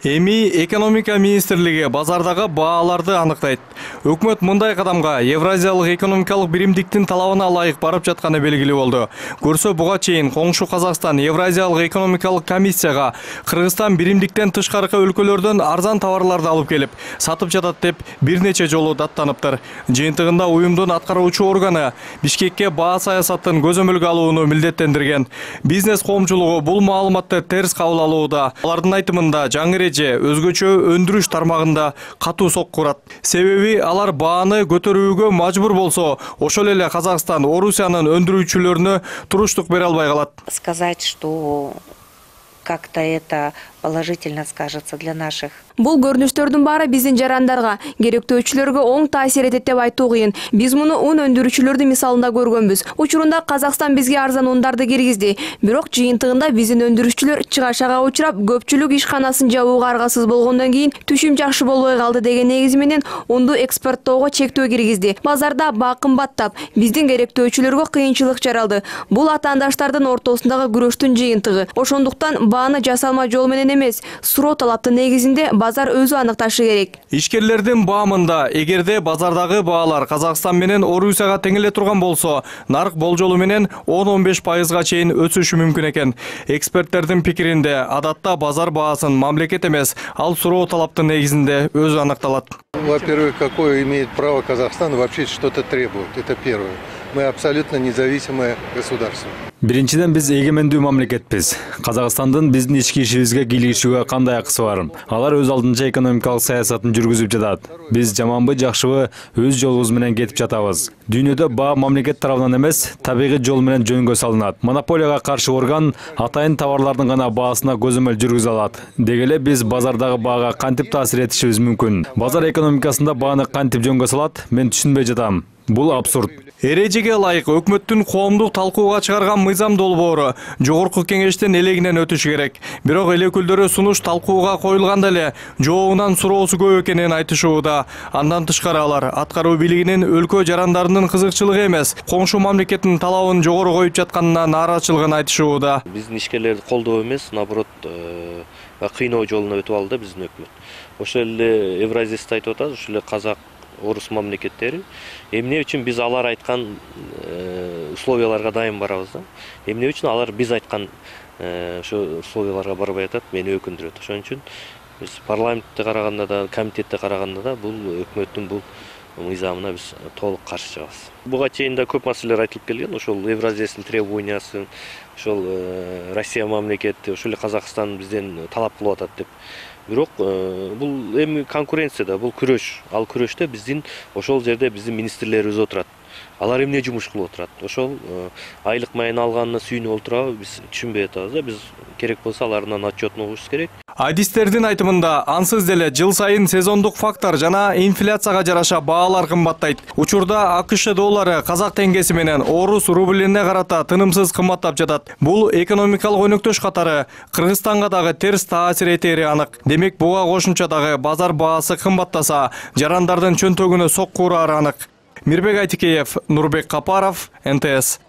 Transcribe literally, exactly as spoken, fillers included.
Эми экономика министрлиги базардагы бааларды аныктайт. Өкмөт мындай кадамга Евразиялык экономикалык биримдиктин талабына ылайык барып жатканы белгилүү болду. Көрсө буга чейин коңшу Казакстан Евразиялык экономикалык комиссияга Кыргызстан биримдиктен тышкаркы өлкөлөрдөн арзан товарларды алып келип, сатып жатат деп бир нече жолу даттаныптыр. Жыйынтыгында уюмдун аткаруучу органы Бишкекке баа саясатын көзөмөлгө алууну милдеттендирген. Бизнес коомчулугу бул маалыматты терс кабыл алууда. Алардын айтымында жаңы өзгөчө өндүрүш тармагында катуу сокку урат. Себеби алар бааны көтөрүүгө мажбур болсо, ошол эле Казакстан Орусиянын өндүрүүчүлөрүнө туруштук бере албай калат. Сказать, что как-то это положительно скажется для наших. Бул көрүнүштөрдүн баары биздин жарандарга, керектөөчүлөргө оң таасир этет деп айтуу кыйын. Биз муну ун өндүрүүчүлөрдүн мисалында көргөнбүз. Учурунда Казакстан бизге арзан ундарды киргизди. Бирок жыйынтыгында биздин өндүрүүчүлөр чыгашага учурап, көпчүлүк ишканасын жабууга аргасыз болгондон кийин түшүм жакшы болбой калды деген негиз менен унду экспорттоого чектөө киргизди. Базарда баа кымбаттап, биздин керектөөчүлөргө кыйынчылык жаралды. Бул атаандаштардын ортосундагы күрөштүн жыйынтыгы. Ошондуктан бааны жасалма жол менен эмес, суроо талаптын негизинде базар өзү аныкташы керек. Ишкерлердин баамында эгерде базардагы баалар Казакстан менен Орусияга тең эле турган болсо, нарк болжолу менен он он беш пайызга чейин өсүшү мүмкүн экен. Эксперттердин пикиринде, адатта базар баасын мамлекет эмес, ал суроо талаптын негизинде өзү аныкталат. Во-первых, какое имеет право Казахстан вообще что-то требовать? Это первое. Мы абсолютно независимое государство. Биринчиден биз эгемендүү мамлекетпиз. Казакстандын биздин ички ишибизге кийлигишүүгө кандай акысы бар? Алар өз алдынча экономикалык саясатын жүргүзүп жатат. Биз жаманбы, жакшыбы өз жолубуз менен кетип жатабыз. Дүйнөдө баа мамлекет тарабынан эмес, табигый жол менен жөнгө салынат. Монополияга каршы орган атайын товарлардын гана баасына көзөмөл жүргүзө алат. Деги эле биз базардагы баага кантип таасир этишибиз мүмкүн? Базар экономикасында бааны кантип жөнгө салат? Мен түшүнбөй жатам. Бул абсурд. Эрежеге ылайык өкмөттүн коомдук талкууга чыгарган мыйзам долбоору жогорку кеңештин элегинен өтүшү керек. Бирок эл өкүлдөрү сунуш талкууга коюлганда эле жообунан суроосу көп экенин айтышууда. Андан тышкары алар аткаруу бийлигинин өлкө жарандарынын кызыкчылыгы эмес, коңшу мамлекеттин талабын жогору коюп жатканына нааразычылыгын айтышууда. Биздин ишкерлерди колдоо эмес, наоборот, кыйноо жолуна өтүп алды биздин өкмөт. Ошол эле Евразист айтып атат, ошол эле Казак, Орус мамлекеттери эмне үчүн биз алар айткан условияларга дайым барабыз да? Эмне үчүн алар биз айткан ошо условияларга барбай атат, мени өкүндүрөт. Ошон үчүн биз парламентте караганда да, комитетте караганда да бул өкмөттүн бул мыйзамына биз толук каршы чыгабыз. Буга чейин да көп маселелер айтылып келген. Ошол Евразиялык требованиясы, ошол Россия мамлекети, ошол эле Казакстан бизден талап кылып атат деп. Бирок бул эми конкуренцияда, бул күрөш. Ал күрөштө биздин ошол жерде биздин министрлерибиз отурат. Алар эмне жумуш кылып отурат? Ошол айлык майын алганына сүйүнүп отурабы, биз түшүнбөй атабыз да. Биз керек болсо алардан отчетун угушубуз керек. Адистердин айтымында, ансыз деле жыл сайын сезондук фактор жана инфляцияга жараша баалар кымбаттайт. Учурда АКШ доллары казак теңгеси менен орус рублине карата тынымсыз кымбаттап жатат. Бул экономикалык өнөктөш катары Кыргызстанга дагы терс таасир этери анык. Демек, буга кошумча дагы базар баасы кымбаттаса, жарандардын чөнтөгүнө сокку урары анык. Мирбек Айтикеев, Нурбек Капаров, эн тэ эс.